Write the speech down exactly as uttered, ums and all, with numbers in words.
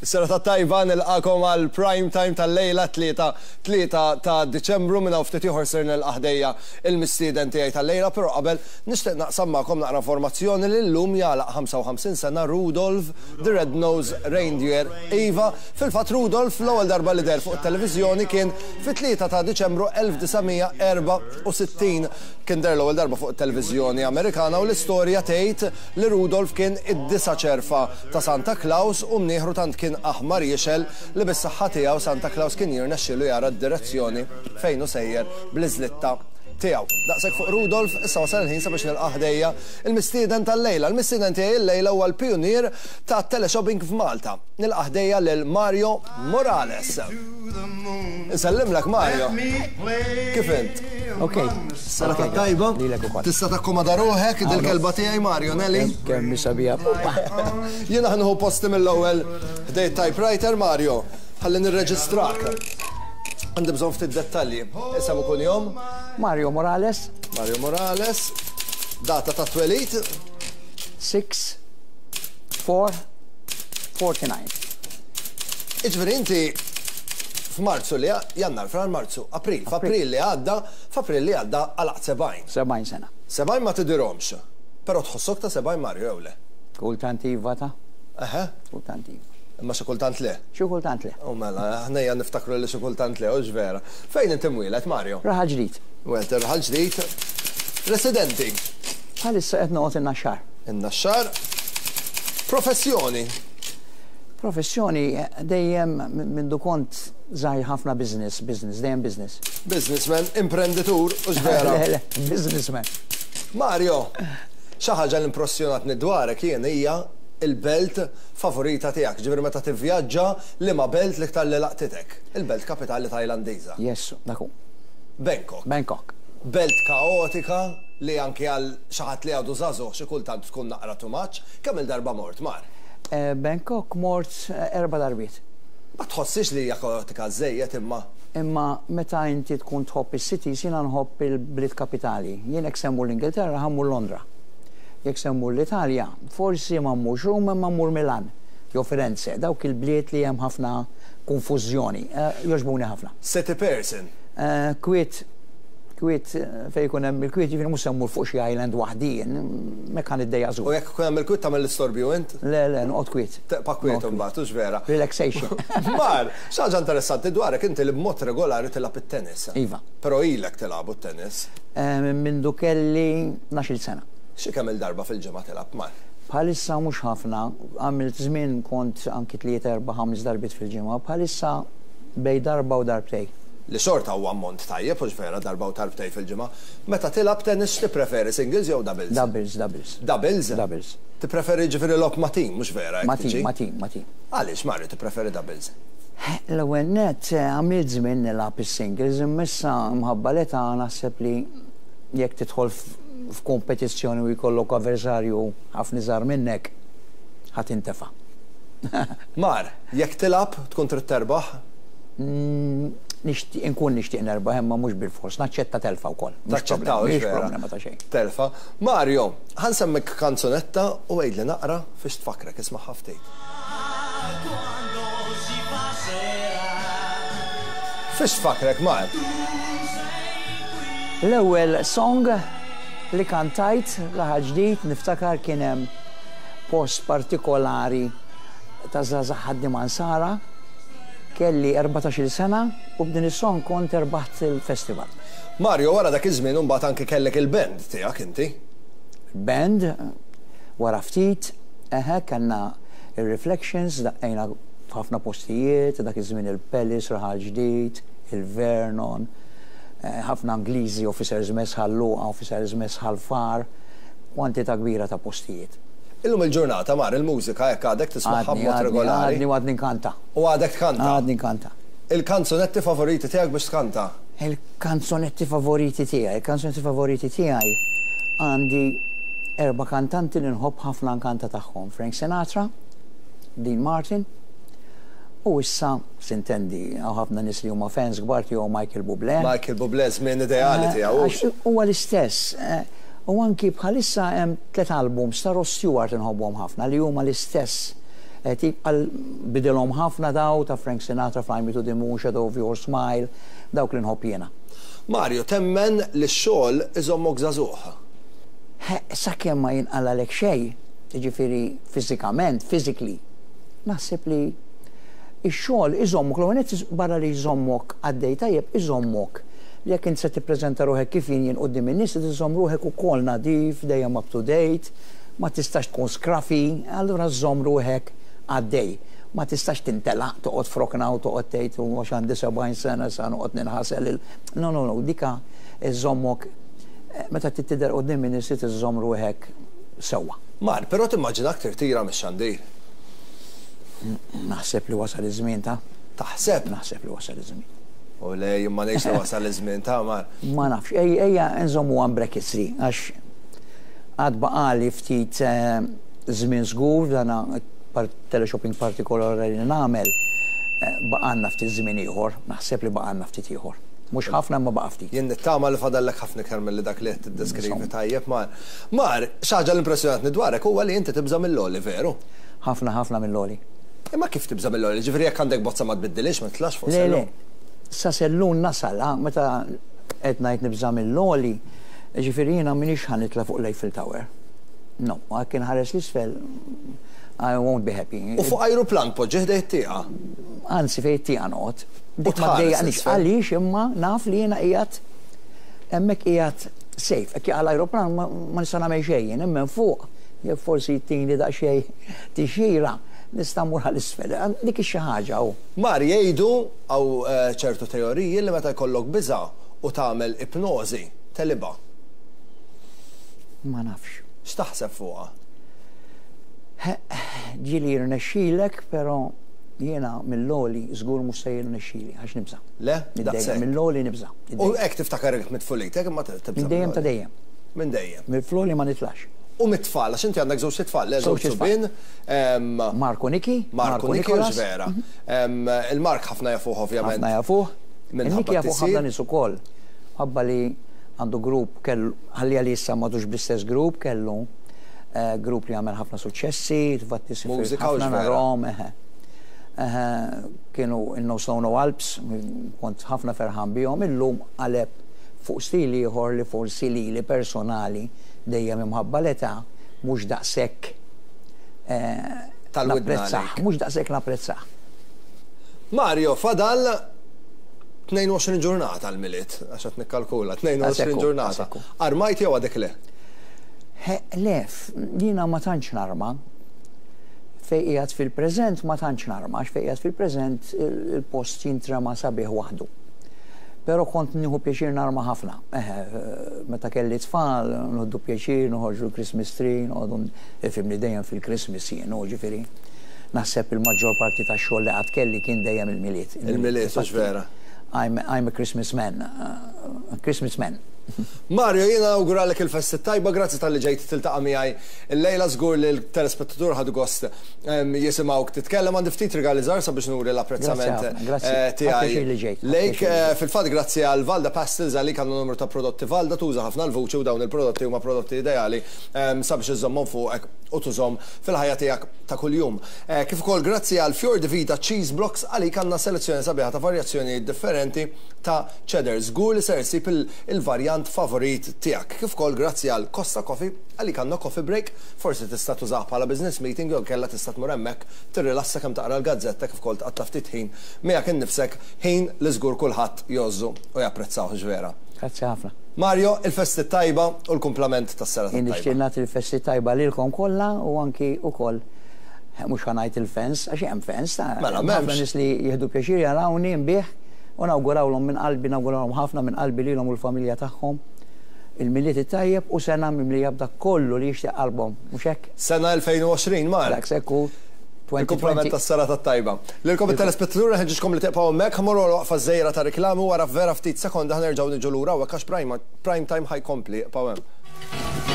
Is-serata tajba, nilqagħkom għal prime time tal-lejla, tlieta, tlieta ta' Diċembru. Minn hawn ftit ieħor ser nilqa' ħdejja il-mistieden tiegħi tal-lejla, però qabel nixtieq naqsam magħkom naqra informazzjoni li llum jagħlaq ħamsa u ħamsin sena Rudolph the Red-Nosed Reindeer. Iva, fil-fatt Rudolph l-ewwel darba li deher fuq it-televiżjoni kien fit-tlieta ta' Diċembru elf disa' mija erbgħa u sittin. Kien deher l-ewwel darba fuq it-televiżjoni Amerikana u l-istorja tgħid li Rudolph kien id-disa' ċerfa ta' Santa Claus u mnieħru tant kien aħmar jixgħel li bis-saħħa tiegħu Santa Claus kien jirnexxielu jara d-direzzjoni fejn hu sejjer bl-iżlitta tiegħu. Daqshekk fuq Rudolf, issa wasal il-ħin sabiex nilqa' ħdejja il-mistieden tal-lejla. Il-mistieden tiegħi il-lejla huwa l-pionier ta' teleshopping f'Malta. Nilqa' ħdejja lil Mario Morales. Insellimlek, Mario. Kif int? Ok. Serata tajba. Lilek ukoll. Tista' takkomoda ruħek, dil-kelba tiegħi, Mario, Nelly. Kemm sabiħa. Jiena ħa nieħu posti mill-ewwel ħdejn typewriter, Mario. Ħalli nirreġistrak. Għandi bżonn ftit dettalji. Isem u kunjom? Mario Morales. Mario Morales. Data ta' twelid? sitta, erbgħa, tnejn u erbgħin. Iġifieri inti f'Marzu li Jannar, Frar, Marzu, April, f'April li għadda, f'April li għadda għalaqt sebgħin. sebgħin sena. Sebgħin ma tidirhomx. Però tħossok ta' sebgħin, Mario, jew le? Kultant iva ta'. Eħe. Kultant iva. Imma xi kultant le. Xi kultant le. U mela, aħna ejja niftakru li xi kultant le, hux vera? Fejn inti mwieled, Mario? Raħal Ġdid. Welt Raħal Ġdid. Residenti? Bħalissa qed noqgħod in-Naxxar. In-Naxxar. Professjoni? Professjoni, dejjem mindu kont żgħir ħafna business, business, dejjem business. Businessman, imprenditur, hux vera? Le, le, businessman. Mario, xi ħaġa li impressjonatni dwarek jien hija il-belt favorita tiegħek. Ġifieri meta tivvjaġġa, liema belt l-iktar li laqtitek? Il-belt kapitali Tajlandiża. Yes, dak hu. Bangkok. Bangkok. Belt kaotika li anke għal xi ħadd li għadu żagħżugħ xi kultant tkun naqra too much. Kemm il-darba mort mar? Eh, Bangkok mort eh, erba' darbiet. Ma tħossix li hija kaotika żejjed imma? Imma meta inti tkun tħobb is-cities, jiena nħobb il-bliet kapitali. Jien jekk se mmur l-Ingilterra, ħa mmur Londra. Jekk se mmur l-Italja, forsi ma mmurx Ruma ma mmur Milan jew Firenze, dawk il-bliet li hemm ħafna konfużjoni. Eh, Jogħġbuni ħafna. City person. Eh, Kwiet, kwiet, eh, fejn jkun hemm il-kwiet, jiġifieri mhux se mmur fuq xi island waħdi, hekk ħa niddejjaq U jekk ikun hemm il-kwiet tagħmel l-istorbju int? Le, le, noqgħod kwiet. Tibqa' kwiet imbagħad, hux vera? Relaxation. Mar, xi ħaġa interessanti dwarek inti li b'mod regolari tilgħab it-tennis. Iva. Però ilek tilgħabu t-tennis. Eh, Mindu kelli tnax-il sena. Xi kemm il-darba fil-ġimgħa tilgħab, Mar? Bħalissa mhux ħafna, għamilt żmien kont anki tlieta, erba', ħames darbiet fil-ġimgħa, bħalissa bejn darba u darbtejn. Li xorta huwa ammont tajjeb, hux vera, darba u darbtejn fil-ġimgħa? Meta tilgħab tennis tippreferi singles jew doubles? Doubles, doubles. Doubles? Doubles. Tippreferi ġifieri logħob ma' team, mhux vera? Ma' Jekk team, tiġi? Ma' team, ma' team. Għaliex, Mario, tippreferi doubles? L-ewwel net eh, għamilt żmien nilgħab is-singles, imma issa mħabba l-età naħseb li jekk tidħol f- f'kompetizzjoni u jkollok avversarju ħafna iżgħar minnek, ħa tintefa'. Mar, jekk tilgħab tkun trid terbaħ? Mm, Nixtieq inkun nixtieq nerbaħ, imma mhux bil-fors, naċċetta telfa wkoll. Mhux Taċċetta, problema, hux mhix vera? problema ta' xejn. Telfa. Mario, ħa nsemmik kanzunetta u għidli naqra fiex tfakrek, isma' ftit. Quando si fa sera, Fiex tfakrek, Mar? L-ewwel song li kantajt Raħal Ġdid, niftakar kien hemm post partikolari ta' żgħażagħ ħaddiema Nsara, kelli erbatax-il sena u b'din is-song kont erbaħt il-festival. Mario, wara dak iż-żmien imbagħad anke kellek il-band tiegħek inti. Band, wara ftit, eħe, kellna il-Reflections, daqqejna f'ħafna postijiet, dak iż-żmien il-Palace, Raħal Ġdid, il-Vernon, eh, ħafna Ingliżi, Officers Mess Ħal Luqa, Officers Mess Ħal Far, kwantità kbira ta' postijiet. Illum il-ġurnata, Mar, il-mużika jekk għadek tismagħha Għadni, b'mod għadni, regolari? għadni u għadni nkanta. U għadek tkanta? Għadni nkanta. Il-kanzunetti favoriti tiegħek biex tkanta? Il-kanzunetti favoriti tiegħi, il-kanzunetti favoriti tiegħi, għandi erba' kantanti li nħobb ħafna nkanta tagħhom. Frank Sinatra, Dean Martin, u issa s'intendi hawn ħafna nies li huma fans kbar tiegħu, Michael Bublé. Michael Bublé, żmien ideali Eh, tiegħu. Għax huwa l-istess. eh, U anki bħalissa hemm tliet albums ta' Rod Stewart inħobbhom ħafna li huma l-istess Tip għal bidilhom ħafna daw ta' Frank Sinatra, Fly Me to the Moon, Shadow of Your Smile, dawk li nħobb jiena. Mario, temmen li x-xogħol iżommok żagħżugħ? Sakemm ma jinqalalek xejn, jiġifieri fiżikament, physically, naħseb li x-xogħol iżommok, l barra li jżommok għaddej tajjeb, iżommok li jekk int se tippreżenta ruħek kif jien jien quddiem in-nies, iżomm ruħek ukoll nadif, dejjem up to date, ma tistax tkun scruffy, allura żomm ruħek għaddej. Ma tistax tintelaq toqgħod f'rokna u toqgħod tgħid u għax għandi sebgħin sena sa noqgħod ninħasel il. No, no, no, dika iżommok meta tidher quddiem in-nies iżomm ruħek sewwa. Mar, però timmaġinak tirtira mix-xandir? Naħseb li wasal iż-żmien ta' Taħseb? Naħseb li wasal iż-żmien. U le, ma ngħidx li wasal iż-żmien ta' Mar. Ma nafx, ejja nżommu għan brackets li, għax għad baqali ftit żmien żgur, dana teleshopping partikolari li nagħmel, baqgħalna ftit żmien ieħor, naħseb li baqgħalna ftit ieħor. Mhux ħafna imma baqa' ftit. Jien nittama li fadallek ħafna iktar milli dak li qed tiddeskrivi tajjeb, Mar. Mar, xi ħaġa li impressjonatni dwarek huwa li inti tibża' mill-għoli, veru? Ħafna, ħafna mill-għoli. Imma kif tibża' mill-għoli? Ġifieri jekk għandek bozza ma tbiddilix, ma titlax fuq Le, sellum? le. Sa sellun nasal, meta qed ngħid nibża' mill-għoli, ġifieri jiena m'iniex ħa nitla' fuq l-Eiffel Tower. No, jekk inħares l-isfel, I won't be happy. U fuq ajruplan poġġi ħdejn it-tieqa? Anzi fejn it-tieqa noqgħod. Dik ma tħares ddejjaqnix l-isfel? Għaliex imma naf li jiena qiegħed hemmhekk qiegħed safe. Hekk jaqa' l-ajruplan ma nista' nagħmel xejn, imma fuq jekk forsi jtini daqsxejn tixjira nista' mmur għall-isfel. Dik xi ħaġa hu. Mar, jgħidu hawn ċertu teoriji li meta jkollok biża' u tagħmel ipnożi tegħlibha. Ma nafx. X'taħseb fuqha? Ġieli jirnexxilek, però jiena mill-għoli żgur mhux se jirnexxili għax nibża'. Le? Minn dejjem, Daqshekk. mill-għoli nibża'. U hekk tiftakar mit tfulitek imma tibża'. Minn dejjem ta' dejjem. Minn dejjem. Mill-floli ma nitlax. U mit-tfal, għax inti għandek żewġ tfal, le, żewġ Żewġ tfal. subien. Marko Niki, Marko Niki, Nikolas. vera. Il-Mark ħafna jafuh ovvjament. Ħafna jafuh. Minħabba Niki jafuh t-tisir. ħafna nies ukoll. Ħabba li għandu grupp kellu, ħalli għalli issa m'għadux bl-istess grupp, kellu eh, grupp li għamel ħafna suċċessi, tfatti sifir Mużika u ħafna vera. narahom, eħe. Eħe, kienu il-No Snow No Alps, kont ħafna ferħan bihom, illum qaleb fuq stili ieħor li forsi li li personali dejjem imħabba l-età mhux daqshekk eh, Tal-widna napprezzah, għalik. mhux daqshekk napprezzah. Mario, fadal tnejn u għoxrin ġurnata l-Milied, għax qed nikkalkula, tnejn u għoxrin Għasekku, ġurnata. għasekku. Armajt jew għadek le? He, le, jiena ma tantx narma. Fej qiegħed fil-preżent ma tantx narma, għax fej qiegħed fil-preżent il- il-post jintrema sabiħ waħdu. Però kont nieħu pjaċir narma ħafna. Eħe, meta kelli tfal, nieħdu pjaċir, noħorġu l-Christmas tree, noqogħdu ifhimni dejjem fil-Christmas jien, u ġifieri. Naħseb il-maġġor parti tax-xogħol li qatt kelli kien dejjem il-Milied. Il-Milied, hux vera? I'm, I'm a Christmas man. Uh, Christmas man. Mario, jiena nawguralek il-festi tajba, grazzi talli ġejt tiltaqa' miegħi. Illejla żgur li l-telespettatur ħadu gost em, jisimgħuk titkellem. Għandi ftit rigali żgħar sabiex nuri l-apprezzament Grazzi ħafna, grazzi. eh, tiegħi. Ħadd li ġejt, ħadd Lejk, pjaċir li eh, fil-fatt grazzi għal Valda Pastels, għalik għandu numru ta' prodotti Valda, tuża ħafna l-vuċi u dawn il-prodotti huma prodotti ideali em, sabiex iżommhom fuqek u tużhom fil-ħajja tiegħek ta' kuljum. Eh, Kif ukoll grazzi għal Fior di Vita Cheese Blocks, għalik għandna selezzjoni sabiħa ta' varjazzjoni differenti ta' cheddar. Żgur li ser issib il- il-varjant favorit tiegħek. Kif ukoll grazzi għal Costa Coffee, għalik għandna coffee break, forsi tista' tużah bħala business meeting jew kella tista' tmur hemmhekk tirrilassa kemm taqra l-gazzetta kif ukoll tqatta' ftit ħin miegħek innifsek, ħin li żgur kulħadd jgħożżu u japprezzaw vera. Grazzi ħafna. Mario, il-festi tajba u l-kumplament tas-sena Jien nixtieq tajba. nagħti l-festi tajba lilkom kollha u anki ukoll mhux ħa ngħid il-fans, għax hemm fans ta' Mela, ħafna m'hemmx. nies li jieħdu pjaċir jarawni nbigħ u nawgurawlhom minn qalbi, nawgurawlhom ħafna minn qalbi lilhom u l-familja tagħhom il-Milied it-tajjeb u sena mimlija b'dak kollu li jixtieq qalbhom, mhux hekk? Sena elfejn u għoxrin, Mar. Dak sekku Il-kumplament elfejn u għoxrin. tas-sena tajba. Lilkom it-telespettaturi ħeġġiġkom li tibqgħu hemmhekk, ħa mmorru waqfa żgħira ta' reklami, wara vera ftit sekonda ħa nerġgħu niġu lura u għax prime, prime time ħa jkompli, ibqgħu hemm.